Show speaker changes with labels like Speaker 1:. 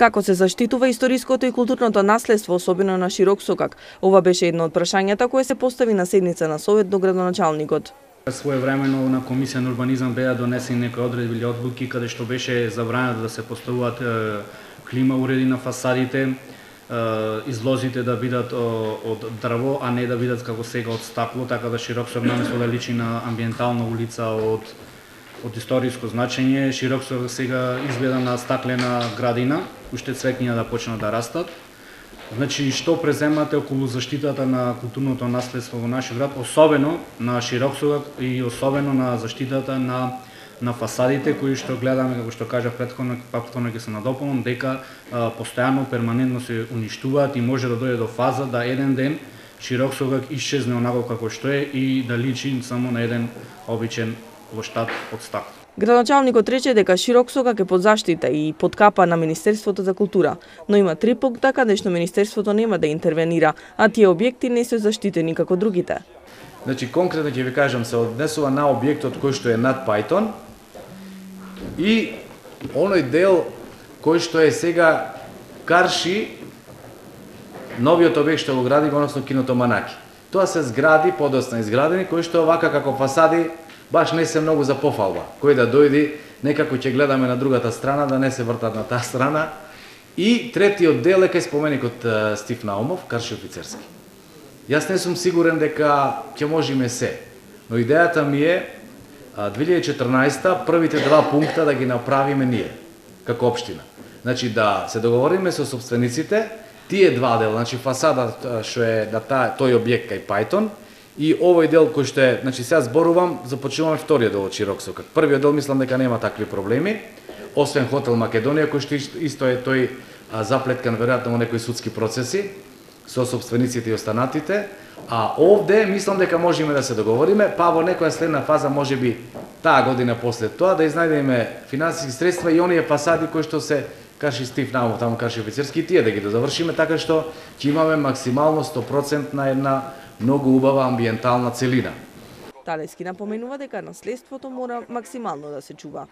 Speaker 1: Како се заштитува историското и културното наследство, особено на Широк Сокак? Ова беше едно од прашањата кое се постави на седница на совет до градоначалникот.
Speaker 2: Своевремено на Комисија на урбанизам беа донесени некои одредби или одлуки каде што беше забрането да се поставуваат клима уреди на фасадите, излозите да бидат од дрво, а не да бидат како сега од стакло, така да Широк Сокак наместо да личи на амбиентална улица од историско значење, Широк Сокак сега изгледа на стаклена градина, уште цвекња да почнат да растат. Значи, што преземате околу заштитата на културното наследство во нашиот град, особено на Широк Сокак и особено на заштитата на фасадите, кои што гледаме, како што кажав претходно ќе се надополнам, дека постојано, перманентно се уништуваат и може да дојде до фаза да еден ден Широк Сокак исчезне онако како што е и да личи само на еден обичен плоштад од стакло.
Speaker 1: Градоначалникот рече дека Широк Сокак е под заштита и под капа на Министерството за култура, но има 3 пункта каде што Министерството нема да интервенира, а тие објекти не се заштитени како другите.
Speaker 3: Значи, конкретно ќе ви кажам, се однесува на објектот кој што е над Пајтон и оној дел кој што е сега Карши, новиот објект што го гради, односно киното Манаки. Тоа се згради подоцна изградени кои што вака како фасади баш не се многу за пофалба. Кој да дојди, некако ќе гледаме на другата страна, да не се вртат на таа страна. И третиот дел е кај споменикот Стив Наумов, Карши офицерски. Јас не сум сигурен дека ќе можеме се, но идејата ми е 2014 првите 2 пункта да ги направиме ние, како општина. Значи да се договориме со собствениците, тие 2 дела, значи фасада што е на тој објект кај Пајтон, и овој дел кој што е, значи сега зборувам, започнуваме вториот дел од Широк Сокак. Првиот дел мислам дека нема такви проблеми, освен хотел Македонија кој што исто е тој заплеткан веројатно во некои судски процеси со собствениците и останатите, а овде мислам дека можеме да се договориме, па во некоја следна фаза можеби таа година после тоа да изнајдеме финансиски средства и оние фасади кои што се Карши Стив Наумов, таму Карши офицерски, тие да ги дозавршиме така што ќе имаме максимално 100% на една многу убава амбиентална целина.
Speaker 1: Талески напоменува дека наследството мора максимално да се чува.